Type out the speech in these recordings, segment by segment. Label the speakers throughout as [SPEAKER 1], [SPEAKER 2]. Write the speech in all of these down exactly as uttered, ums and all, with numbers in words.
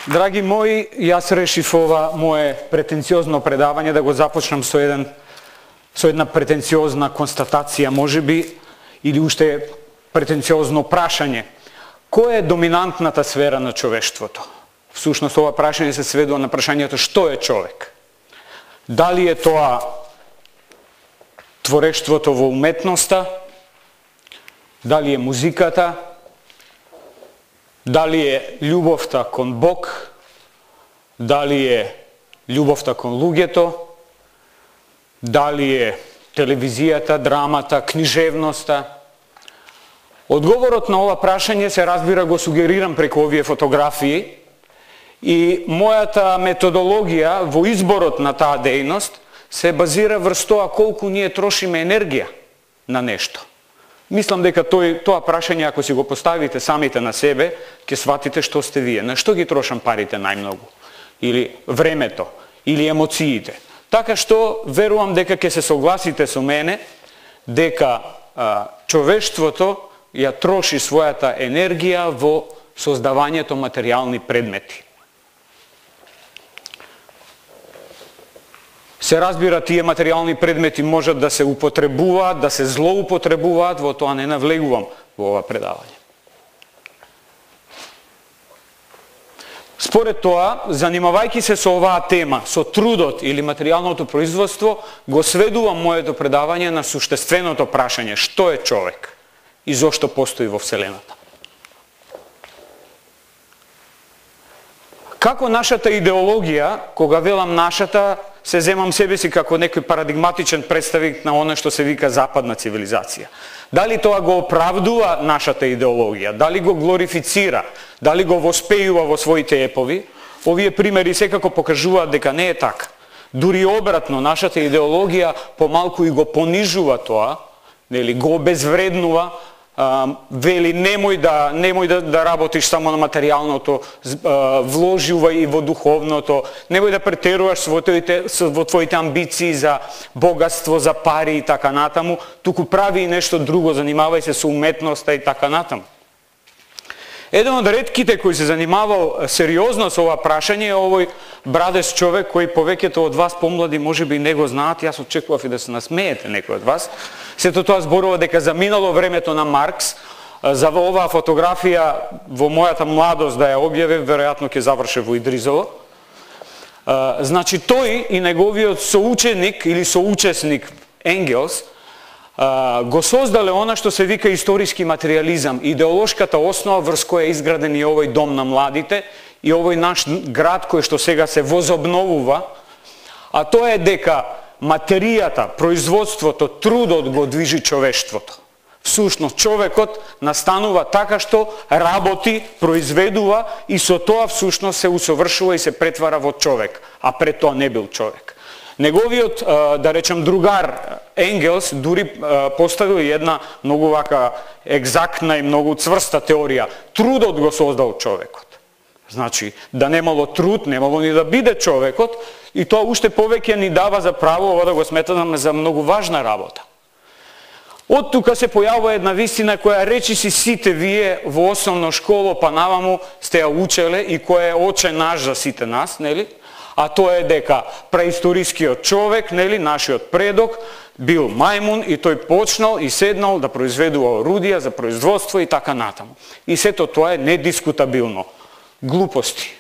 [SPEAKER 1] Драги мои, јас решив ова мое претенциозно предавање да го започнам со еден со една претенциозна констатација, можеби, или уште претенциозно прашање. Која е доминантната сфера на човештвото? Всушност, ова прашање се сведува на прашањето што е човек. Дали е тоа творештвото во уметноста? Дали е музиката? Дали е љубовта кон Бог? Дали е љубовта кон луѓето? Дали е телевизијата, драмата, книжевноста? Одговорот на ова прашање се разбира го сугерирам преку овие фотографии и мојата методологија во изборот на таа дејност се базира врз тоа колку ние трошиме енергија на нешто. Мислам дека тој, тоа прашање, ако си го поставите самите на себе, ќе сватите што сте вие. На што ги трошам парите најмногу? Или времето? Или емоциите? Така што, верувам дека ќе се согласите со мене, дека а, човештвото ја троши својата енергија во создавањето материјални предмети. Се разбира, тие материјални предмети можат да се употребуваат, да се злоупотребуваат, во тоа не навлегувам во ова предавање. Според тоа, занимавајќи се со оваа тема, со трудот или материјалното производство, го сведувам моето предавање на суштественото прашање што е човек и зошто постои во Вселената. Како нашата идеологија, кога велам нашата, се земам себе си како некој парадигматичен представник на оно што се вика западна цивилизација. Дали тоа го оправдува нашата идеологија, дали го глорифицира, дали го воспејува во своите епови, овие примери секако покажуваат дека не е така. Дури обратно, нашата идеологија помалку и го понижува тоа, нели, го обезвреднува, Uh, вели немој да немој да, да работиш само на материјалното, uh, вложи и во духовното, немој да претеруваш во твоите, во твоите амбиции за богатство, за пари и така натаму, туку прави и нешто друго, занимавај се со уметноста и така натаму. Еден од ретките кој се занимавал сериозно со ова прашање е овој брадест човек кој повеќето од вас помлади можеби не го знаат, јас очекував и да се насмеете некој од вас. Сето тоа зборува дека заминало времето на Маркс, за оваа фотографија во мојата младост да ја објавив, веројатно ќе заврше во Идризово. Значи тој и неговиот соученик или соучесник Енгелс го создале она што се вика историски материјализам, идеолошката основа врз која е изграден и овој дом на младите и овој наш град кој што сега се возобновува, а тоа е дека материјата, производството, трудот го движи човештвото. Всушност, човекот настанува така што работи, произведува и со тоа всушност се усовршува и се претвара во човек, а пред тоа не бил човек. Неговиот, да речем, другар Енгелс дури поставил една многу вака екзактна и многу цврста теорија. Трудот го создал човекот. Значи, да немало труд, немало ни да биде човекот, и тоа уште повеќе ни дава за право ова да го сметаме за многу важна работа. Од тука се појавува една вистина која речи си сите вие во основна школа па наваму сте ја учеле и која е оче наш за сите нас, нели? А тоа е дека преисторискиот човек, нели, нашиот предок, бил мајмун и тој почнал и седнал да произведува орудија за производство и така натаму. И сето тоа е недискутабилно. Глупости.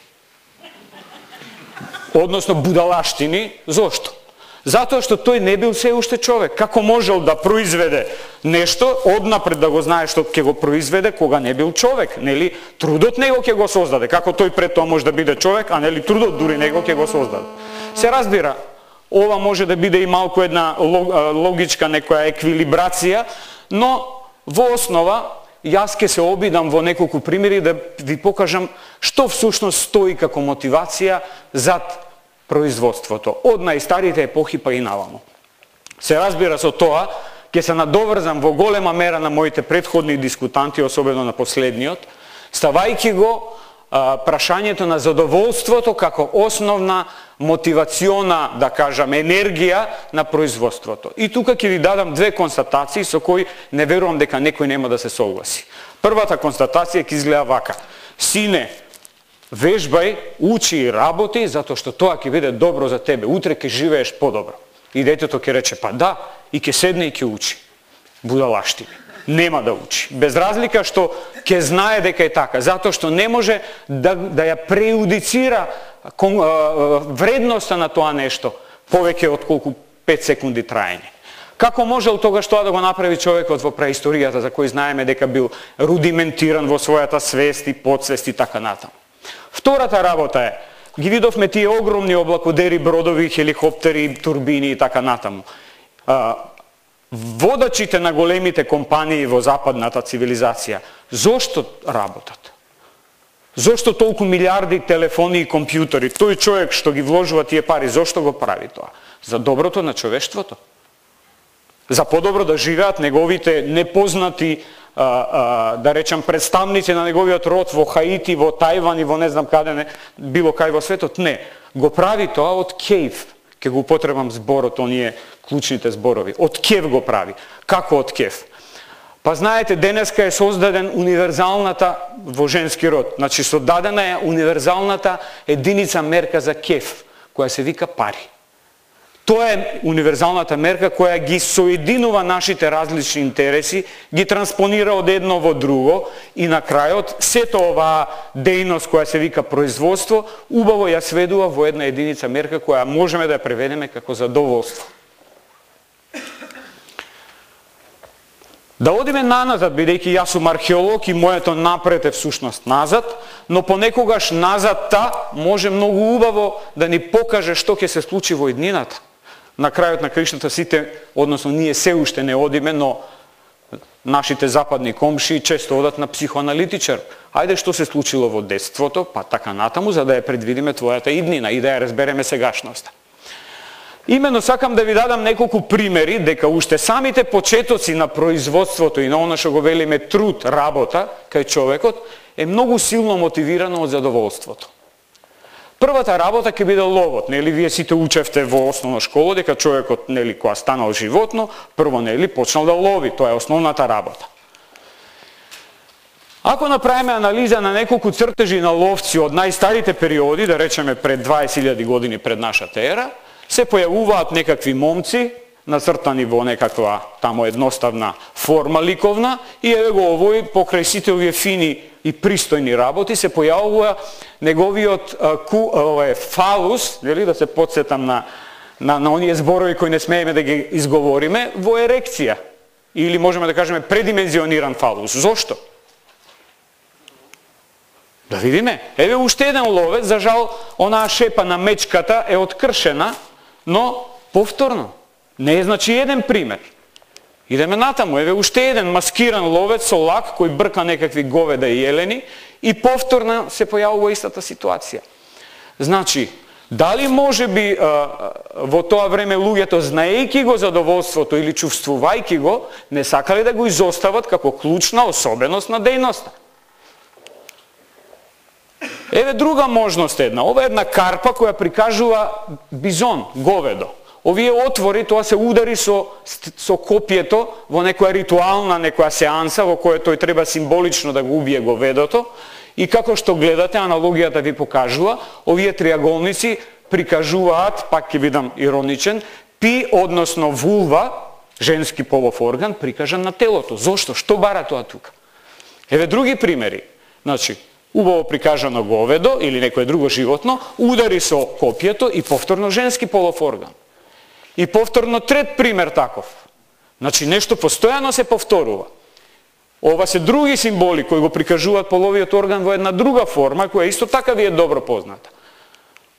[SPEAKER 1] Односно будалаштини. Зошто? Затоа што тој не бил се уште човек. Како можел да произведе нешто, однапред да го знае што ќе го произведе кога не бил човек, нели? Трудот него ќе го создаде. Како тој пред тоа може да биде човек, а нели трудот дури него ќе го создаде. Се разбира, ова може да биде и малку една логичка некоја еквилибрација, но во основа јас ќе се обидам во неколку примери да ви покажам што всушност стои како мотивација зад производството, од најстарите епохи па и наваму. Се разбира, со тоа ќе се надоврзам во голема мера на моите претходни дискутанти, особено на последниот, ставајќи го а, прашањето на задоволството како основна мотивациона, да кажам, енергија на производството. И тука ќе ви дадам две констатации со кои не верувам дека некој нема да се согласи. Првата констатација ќе изгледа вака. Сине, вежбај, учи и работи, затоа што тоа ќе биде добро за тебе. Утре ќе живееш подобро. И детето ќе рече, па да, и ќе седне и ќе учи. Будалаштини. Нема да учи. Без разлика што ќе знае дека е така, затоа што не може да, да ја преюдицира вредноста на тоа нешто повеќе од колку пет секунди траење. Како можел тогаш тоа да го направи човекот во преисторијата, за кој знаеме дека бил рудиментиран во својата свест и подсвест и така натаму. Втората работа е, ги видовме тие огромни облакодери, бродови, хеликоптери, турбини и така натаму. А, водачите на големите компании во западната цивилизација, зошто работат? Зошто толку милиарди телефони и компјутери? Тој човек што ги вложува тие пари, зошто го прави тоа? За доброто на човештвото. За подобро да живеат неговите непознати, а, а, да речам, представници на неговиот род во Хаити, во Тајван и во не знам каде не, било кај во светот. Не. Го прави тоа од кејф. Ке го употребам зборот, оние клучните зборови. Од кејф го прави. Како од кејф? Па знаете, денеска е создаден универзалната во женски род. Значи, создадена е универзалната единица мерка за кејф, која се вика пари. Тоа е универзалната мерка која ги соединува нашите различни интереси, ги транспонира од едно во друго и на крајот сето оваа дејност која се вика производство, убаво ја сведува во една единица мерка која можеме да ја преведеме како задоволство. Да одиме наназад, бидејќи јас сум археолог и моето напред е всушност назад, но понекогаш назадта може многу убаво да ни покаже што ќе се случи во иднината. На крајот на краишната сите, односно ние се уште не одиме, но нашите западни комши често одат на психоаналитичар. Ајде што се случило во детството, па така натаму, за да ја предвидиме твојата иднина и да ја разбереме сегашноста. Имено сакам да ви дадам неколку примери дека уште самите почетоци на производството и на она што го велиме труд, работа кај човекот е многу силно мотивирано од задоволството. Првата работа ќе биде ловот, нели вие сите учевте во основна школа дека човекот, нели кога станал животно, прво нели почнал да лови, тоа е основната работа. Ако направиме анализа на неколку цртежи на ловци од најстарите периоди, да речеме пред дваесет илјади години пред нашата ера, се појавуваат некакви момци, нацртани во некаква тамо едноставна форма ликовна, и еве го овој покрај сите овие фини и пристојни работи се појавува неговиот а, ку, а, фалус, нели да се потсетам на на на оние зборови кои не смееме да ги изговориме, во ерекција или можеме да кажеме предимензиониран фалус. Зошто? Да видиме. Еве уште еден ловец, за жал онаа шепа на мечката е откршена, но повторно. Не е значи еден пример. Идеме натаму, еве уште еден маскиран ловец со лак кој брка некакви говеда и елени и повторно се појавува истата ситуација. Значи, дали може би а, во тоа време луѓето, знаејќи го задоволството или чувствувајќи го, не сакале да го изостават како клучна особеност на дејноста? Еве друга можност една. Ова е една карпа која прикажува бизон, говедо. Овие отвори, тоа се удари со, со копието во некоја ритуална, некоја сеанса во која тој треба символично да го убие говедото. И како што гледате, аналогијата ви покажува, овие триаголници прикажуваат, пак ќе бидам ироничен, пи, односно вулва, женски полов орган, прикажан на телото. Зошто? Што бара тоа тука? Еве други примери. Значи, убаво прикажано говедо или некое друго животно, удари со копието и повторно женски полов орган. И повторно трет пример таков. Значи, нешто постојано се повторува. Ова се други символи кои го прикажуваат половиот орган во една друга форма, која исто така ви е добро позната.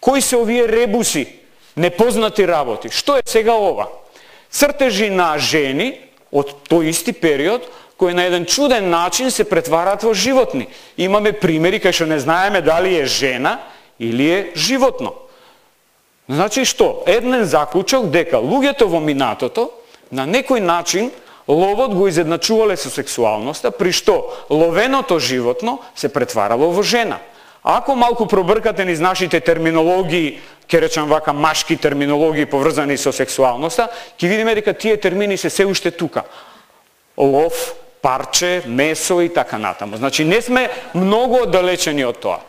[SPEAKER 1] Кои се овие ребуси, непознати работи? Што е сега ова? Цртежи на жени од тој исти период, кои на еден чуден начин се претвараат во животни. Имаме примери кај што не знаеме дали е жена или е животно. Значи што? Еден заклучок дека луѓето во минатото на некој начин ловот го изедначувале со сексуалноста, при што ловеното животно се претварало во жена. Ако малку пробркате низ нашите терминологии, ќе речам вака машки терминологии поврзани со сексуалноста, ќе видиме дека тие термини се се уште тука. Лов, парче, месо и така натаму. Значи не сме многу оддалечени од тоа.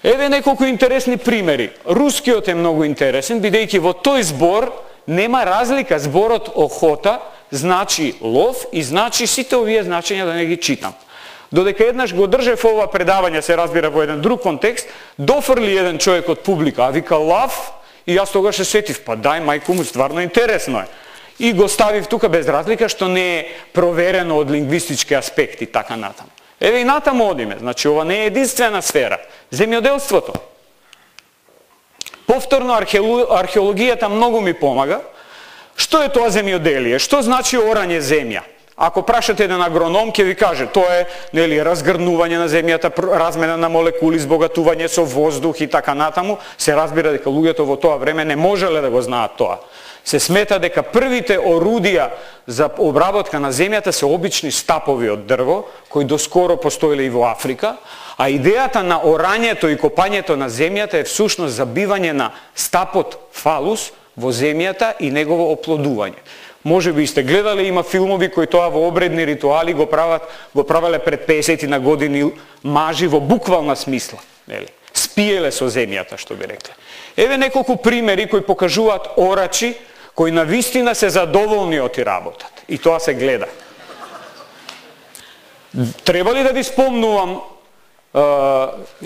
[SPEAKER 1] Еве неколку интересни примери. Рускиот е многу интересен, бидејќи во тој збор нема разлика. Зборот охота значи лов и значи сите овие значења да не ги читам. Додека еднаш го држев ова предавање, се разбира во еден друг контекст, дофрли еден човек од публика, а вика лав, и јас тогаш се сетив, па дај мајку му, стварно интересно е. И го ставив тука без разлика, што не е проверено од лингвистички аспекти, така натаму. Еве и натаму одиме, значи ова не е единствена сфера. Земјоделството. Повторно археологијата многу ми помага. Што е тоа земјоделие? Што значиорање земја? Ако прашате еден агроном, ќе ви каже, тоа е, нели, разгрнување на земјата, размена на молекули, збогатување со воздух и така натаму. Се разбира дека луѓето во тоа време не можеле да го знаат тоа. Се смета дека првите орудија за обработка на земјата се обични стапови од дрво, кои доскоро постоеле и во Африка, а идејата наорањето и копањето на земјата е всушност забивање на стапот фалус во земјата и негово оплодување. Може би сте гледале, има филмови кои тоа во обредни ритуали го прават, го правеле пред песет на години мажи во буквална смисла, нели? Спиеле со земјата, што би рекле. Еве неколку примери кои покажуваат орачи кои навистина се задоволни од и работат. И тоа се гледа. Треба ли да ви спомнувам е,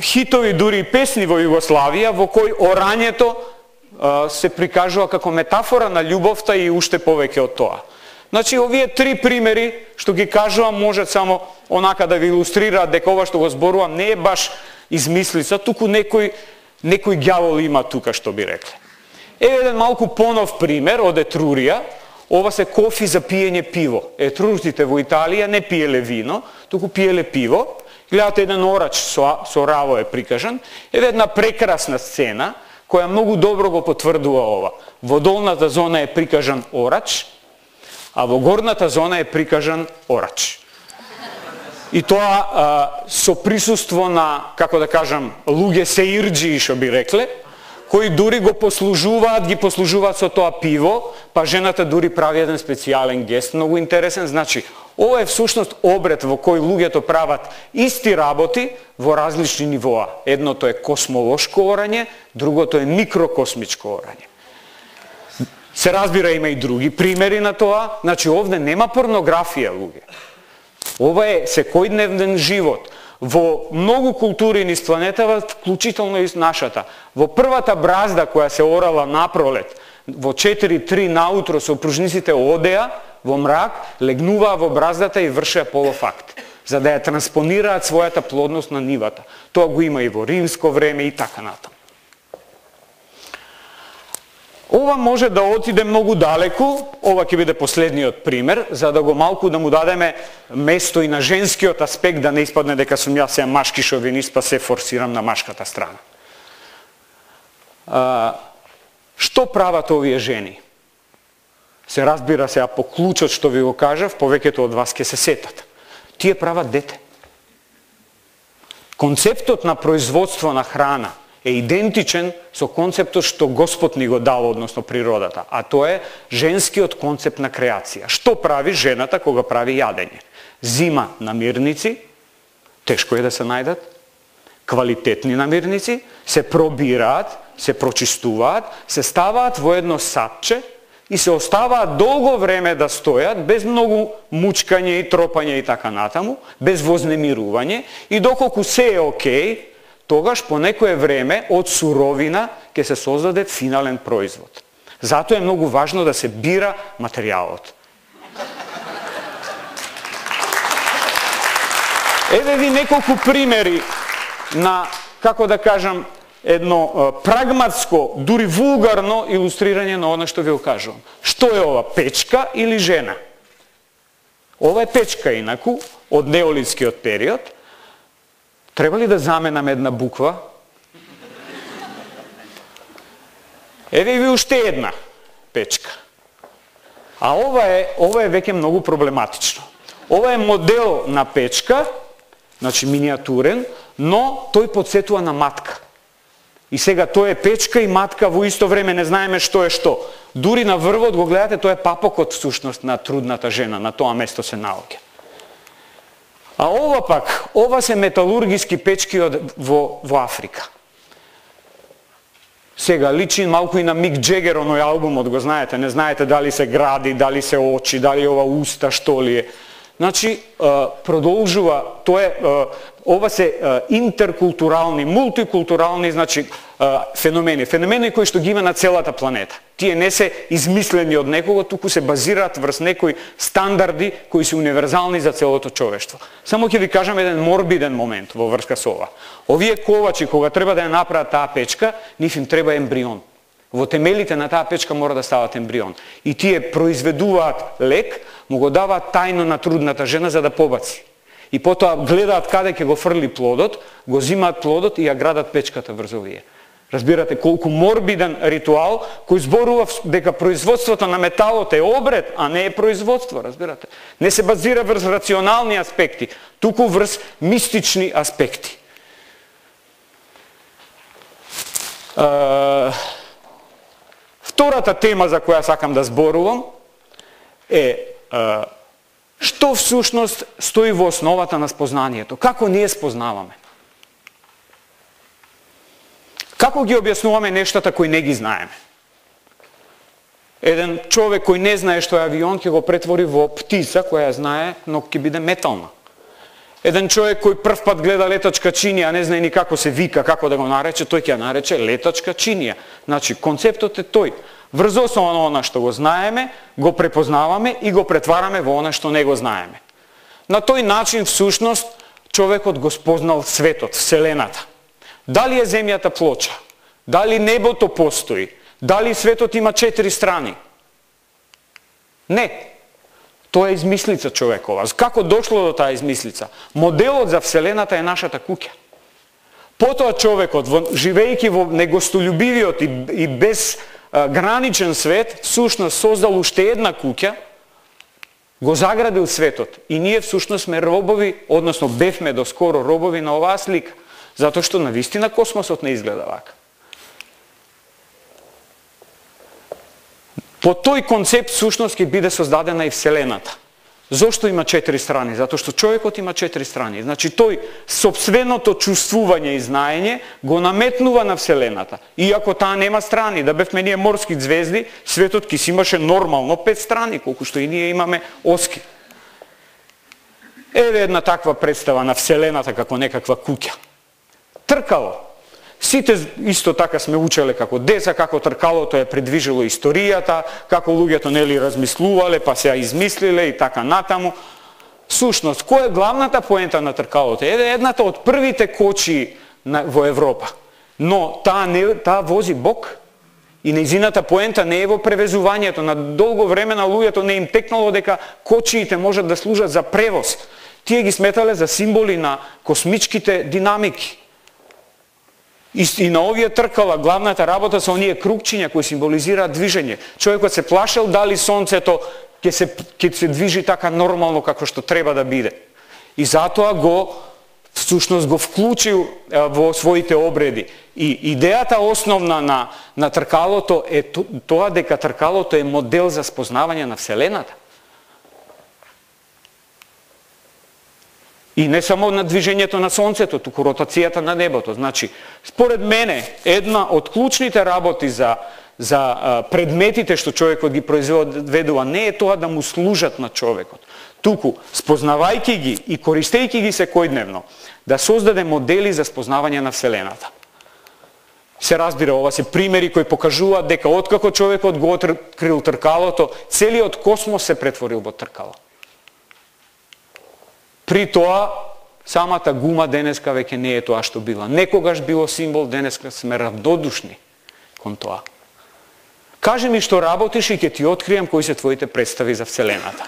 [SPEAKER 1] хитови, дури и песни во Југославија, во коиорањето се прикажува како метафора на љубовта и уште повеќе од тоа. Значи, овие три примери, што ги кажувам, можат само онака да ви илустрираат дека ова што го зборувам не е баш измислица, туку некој, некој ѓавол има тука, што би рекле. Еве еден малку понов пример од Етрурија. Ова се кофи за пиење пиво. Етрурците во Италија не пиеле вино, туку пиеле пиво. Гледате еденорач со, со раво е прикажан. Еве една прекрасна сцена, која многу добро го потврдува ова. Во долната зона е прикажанорач, а во горната зона е прикажанорач. И тоа а, со присуство на, како да кажам, луѓе сеирџи, што би рекле, кои дури го послужуваат, ги послужуваат со тоа пиво, па жената дури прави еден специјален гест, многу интересен. Значи, ова е всушност обред во кој луѓето прават исти работи во различни нивоа. Едното е космолошкоорање, другото е микрокосмичкоорање. Се разбира, има и други примери на тоа. Значи, овде нема порнографија, луѓе. Ова е секојдневен живот. Во многу култури низ планетава, вклучително и нашата. Во првата бразда која се орала напролет, во четири три наутро сопружниците одеа во мрак, легнуваа во браздата и вршеа полофакт, за да ја транспонираат својата плодност на нивата. Тоа го има и во римско време и така натаму. Ова може да отиде многу далеку, ова ќе биде последниот пример, за да го малку да му дадеме место и на женскиот аспект, да не испадне дека сум јас сега машки шовинист, па се форсирам на машката страна. А, што прават овие жени? Се разбира сега по клучот што ви го кажав, повеќето од вас ќе се сетат. Тие прават дете. Концептот на производство на храна е идентичен со концептот што Господ ни го дал, односно природата, а тоа е женскиот концепт на креација. Што прави жената кога прави јадење? Зима намирници, тешко е да се најдат, квалитетни намирници, се пробираат, се прочистуваат, се ставаат во едно садче и се оставаат долго време да стојат, без многу мучкање и тропање и така натаму, без вознемирување, и доколку се е окей, тогаш по некое време од суровина ќе се создаде финален производ. Затоа е многу важно да се бира материјалот. Еве ви неколку примери на, како да кажам, едно прагматско, дури вулгарно илустрирање на оно што ви го кажувам. Што е ова, печка или жена? Ова е печка инаку, од неолитскиот период. Треба ли да заменам една буква? Еве ви уште една печка. А ова е, ова е веќе многу проблематично. Ова е модел на печка, значи миниатурен, но тој потсетува на матка. И сега тоа е печка и матка во исто време, не знаеме што е што. Дури на врвот го гледате, тоа е папокот всушност на трудната жена, на тоа место се наоѓа. А ова пак, ова се металургиски печки од, во, во Африка. Сега личи малку и на Мик Джегер, оној албумот, го знаете, не знаете дали се гради, дали се очи, дали ова уста, што ли е. Значи, продолжува, тоа е, ова се интеркултурални, мултикултурални, значи, феномени. Феномени кои што ги има на целата планета. Тие не се измислени од некого, туку се базираат врз некои стандарди кои се универзални за целото човештво. Само ќе ви кажам еден морбиден момент во врска со ова. Овие ковачи, кога треба да ја направат таа печка, нив им треба ембрион. Во темелите на таа печка мора да стават ембрион. И тие произведуваат лек, му го даваат тајно на трудната жена за да побаци. И потоа гледаат каде ќе го фрли плодот, го зимаат плодот и ја градат печката врз овие. Разбирате колку морбиден ритуал кој зборува дека производството на металот е обред, а не е производство, разбирате. Не се базира врз рационални аспекти, туку врз мистични аспекти. Uh... Втората тема за која сакам да зборувам е што всушност стои во основата на спознанието. Како ние спознаваме? Како ги објаснуваме нештата кои не ги знаеме? Еден човек кој не знае што е авион ќе го претвори во птица која знае, но ќе биде метална. Еден човек кој прв пат гледа летачка чинија, не знае ни како се вика, како да го нарече, тој ќе ја нарече летачка чинија. Значи, концептот е тој. Врз основа на она што го знаеме, го препознаваме и го претвараме во она што не го знаеме. На тој начин, всушност, човекот го спознал светот, вселената. Дали е земјата плоча? Дали небото постои? Дали светот има четири страни? Не. Тоа е измислица човекова. Како дошло до таа измислица? Моделот за вселената е нашата куќа. Потоа човекот, живејќи во негостолюбивиот и, и безграничен свет, всушност создал уште една куќа, го заградил светот. И ние всушност сме робови, односно бевме доскоро робови на оваа слика. Затоа што навистина космосот не изгледа вака. По тој концепт всушност ќе биде создадена и вселената. Зошто има четири страни? Затоа што човекот има четири страни. Значи тој сопственото чувствување и знаење го наметнува на вселената. Иако таа нема страни, да бевме ние морски звезди, светот ќе си имаше нормално пет страни, колку што и ние имаме оски. Еве една таква представа на вселената како некаква куќа. Тркало. Сите исто така сме учеле како деца, како тркалото е предвижило историјата, како луѓето нели размислувале, па се ја измислиле и така натаму. Сушност, која е главната поента на тркалото? Е едната од првите кочи на, во Европа. Но таа, не, таа вози Бог и нејзината поента не е во превезувањето. На долго време на луѓето не им текнало дека кочиите можат да служат за превоз. Тие ги сметале за символи на космичките динамики. И, и на овие тркала главната работа се оние кругчиња кои символизираат движење. Човекот се плашел дали сонцето ќе се ќе се движи така нормално како што треба да биде. И затоа го всушност го вклучил во своите обреди. И идејата основна на на тркалото е тоа дека тркалото е модел за спознавање на вселената. И не само на движењето на сонцето, туку ротацијата на небото. Значи, според мене, една од клучните работи за, за а, предметите што човекот ги произведува не е тоа да му служат на човекот. Туку, спознавајќи ги и користејќи ги секојдневно, да создаде модели за спознавање на вселената. Се разбира, ова се примери кои покажуваат дека откако човекот го открил тркалото, целиот космос се претворил во тркало. При тоа, самата гума денеска веќе не е тоа што била. Некогаш било символ, денеска сме равнодушни кон тоа. Кажи ми што работиш и ќе ти откријам кои се твоите представи за вселената.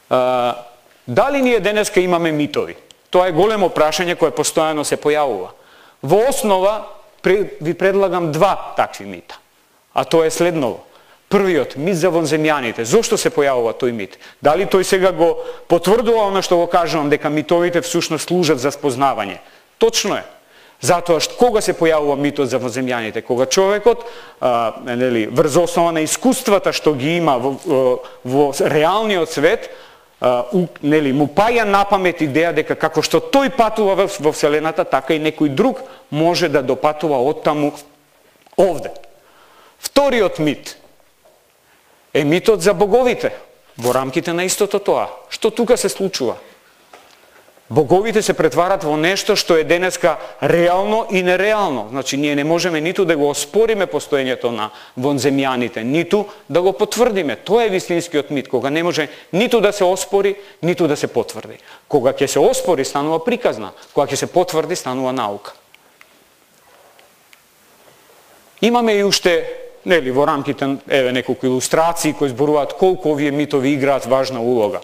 [SPEAKER 1] А, дали ние денеска имаме митови? Тоа е големо прашање кое постојано се појавува. Во основа ви предлагам два такви мита. А тоа е следново. Првиот, мит за вонземјаните. Зошто се појавува тој мит? Дали тој сега го потврдува оно што го кажувам, дека митовите всушност служат за спознавање? Точно е. Затоа што кога се појавува митот за вонземјаните? Кога човекот, а, нели, врз основа на искуствата што ги има во, во реалниот свет, у, нели, му паја на памет идеја дека како што тој патува во, во Вселената, така и некој друг може да допатува оттаму овде. Вториот мит е митот за боговите, во рамките на истото тоа. Што тука се случува? Боговите се претварат во нешто што е денеска реално и нереално. Значи, ние не можеме ниту да го оспориме постоењето на вонземјаните, ниту да го потврдиме. Тоа е вистинскиот мит, кога не може ниту да се оспори, ниту да се потврди. Кога ќе се оспори, станува приказна. Кога ќе се потврди, станува наука. Имаме и уште, нели, во рамките, еве, неколку илустрации кои зборуваат колку овие митови играат важна улога.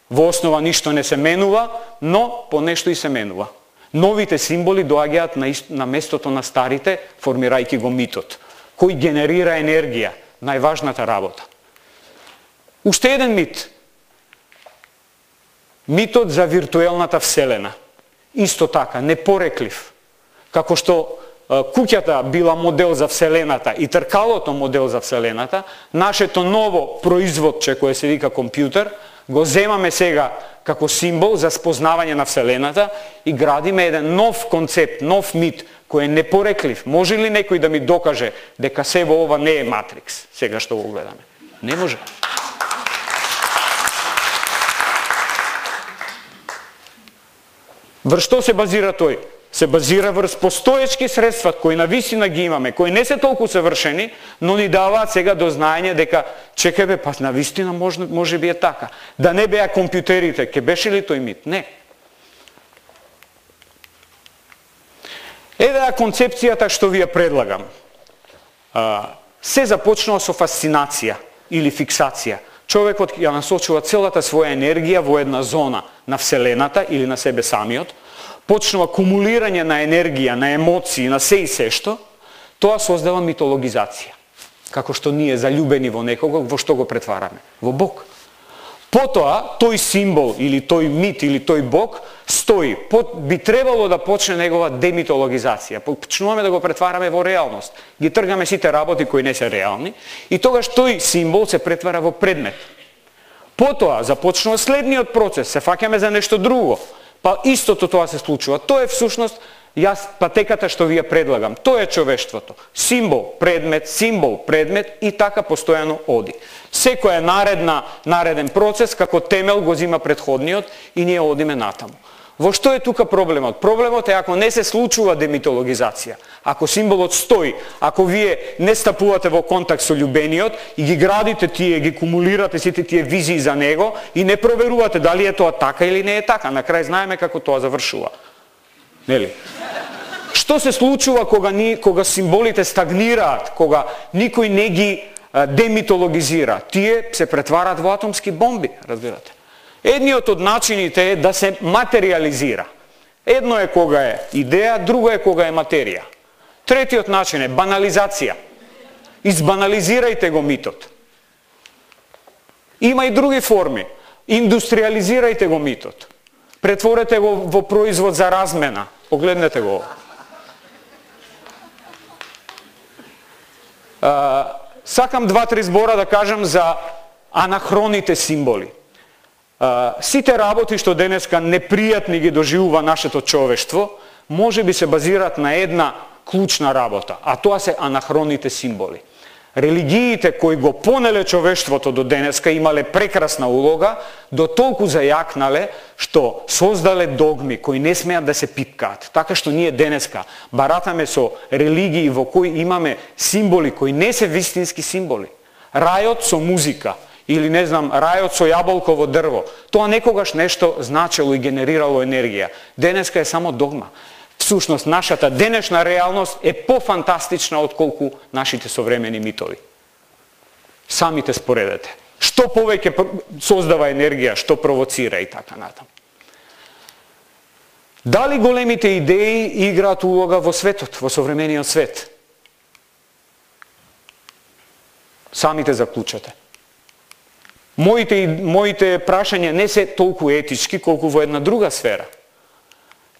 [SPEAKER 1] Во основа ништо не се менува, но по нешто и се менува. Новите символи доаѓаат на, ист... на местото на старите, формирајќи го митот, кој генерира енергија, најважната работа. Уште еден мит. Митот за виртуелната вселена. Исто така, непореклив. Како што куќата била модел за вселената и тркалото модел за вселената, нашето ново производче кое се вика компјутер, го земаме сега како символ за спознавање на вселената и градиме еден нов концепт, нов мит кој е непореклив. Може ли некој да ми докаже дека се во ова не е Матрикс, сега што го гледаме? Не може. Врз што се базира тој? Се базира врз постоечки средства кои навистина ги имаме, кои не се толку совршени, но ни даваат сега до знаење дека чекај бе, па навистина може, може би е така. Да не беа компјутерите, ке беше ли тој мит? Не. Еве концепцијата што ви ја предлагам. А, се започнува со фасцинација или фиксација. Човекот ја насочува целата своја енергија во една зона на вселената или на себе самиот, почнува кумулирање на енергија, на емоции, на се и се што, тоа создава митологизација. Како што ние заљубени во некого, во што го претвараме? Во Бог. Потоа, тој символ, или тој мит, или тој Бог, стои. Би требало да почне негова демитологизација. Почнуваме да го претвараме во реалност. Ги тргаме сите работи кои не се реални, и тогаш тој символ се претвара во предмет. Потоа, започнува следниот процес, се фаќаме за нешто друго. Па истото тоа се случува. Тоа е всушност јас патеката што ви ја предлагам. Тоа е човештвото. Символ, предмет, символ, предмет и така постојано оди. Секоја наредна нареден процес како темел го зима претходниот и ние одиме натаму. Во што е тука проблемот? Проблемот е ако не се случува демитологизација. Ако символот стои, ако вие не стапувате во контакт со љубениот и ги градите тие, ги кумулирате сите тие визии за него и не проверувате дали е тоа така или не е така, на крај знаеме како тоа завршува. Нели? Што се случува кога ни кога символите стагнираат, кога никој не ги демитологизира? Тие се претварат во атомски бомби, разбирате? Едниот од начините е да се материализира. Едно е кога е идеја, друго е кога е материја. Третиот начин е банализација. Избанализирајте го митот. Има и други форми. Индустриализирајте го митот. Претворете го во производ за размена. Погледнете го. А, сакам два-три збора да кажам за анахроните символи. Uh, сите работи што денеска непријатни ги доживува нашето човештво, може би се базираат на една клучна работа, а тоа се анахроните символи. Религиите кои го понеле човештвото до денеска имале прекрасна улога, до толку зајакнале што создале догми кои не смеат да се пипкаат. Така што ние денеска баратаме со религии во кои имаме символи кои не се вистински символи. Рајот со музика, или не знам, рајот со јаболково дрво. Тоа некогаш нешто значело и генерирало енергија. Денеска е само догма. Всушност, нашата денешна реалност е пофантастична отколку нашите современи митови. Самите споредете. Што повеќе создава енергија, што провоцира и така натаму. Дали големите идеи играат улога во светот, во современиот свет? Самите заклучате. Моите, моите прашања не се толку етички, колку во една друга сфера.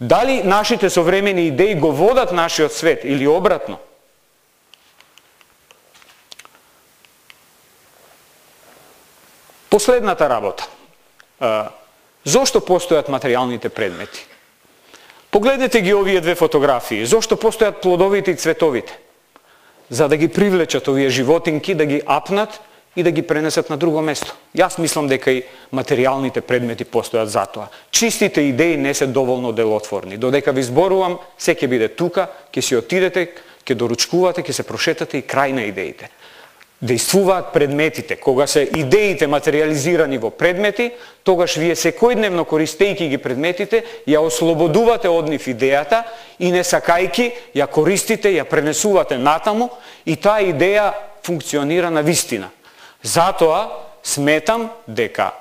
[SPEAKER 1] Дали нашите современи идеи го водат нашиот свет или обратно? Последната работа. Зошто постојат материјалните предмети? Погледнете ги овие две фотографии. Зошто постојат плодовите и цветовите? За да ги привлечат овие животинки, да ги апнат и да ги пренесат на друго место. Јас мислам дека и материјалните предмети постојат за тоа. Чистите идеи не се доволно делотворни. Додека ви зборувам, се ќе биде тука, ќе си отидете, ќе доручкувате, ќе се прошетате и крај на идеите. Дејствуваат предметите. Кога се идеите материјализирани во предмети, тогаш вие секојдневно користејќи ги предметите, ја ослободувате од нив идејата и не сакајки, ја користите, ја пренесувате натаму и таа идеја функционира на вистина. Затоа сметам дека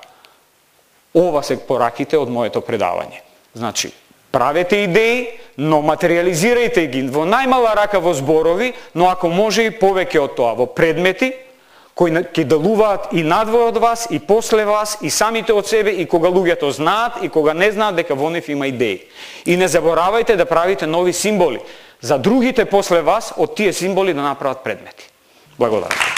[SPEAKER 1] ова се пораките од моето предавање. Значи, правете идеи, но материјализирајте ги во најмала рака во зборови, но ако може и повеќе од тоа, во предмети, кои ќе делуваат и надвор од вас, и после вас, и самите од себе, и кога луѓето знаат, и кога не знаат дека во нив има идеи. И не заборавајте да правите нови символи, за другите после вас од тие символи да направат предмети. Благодарам.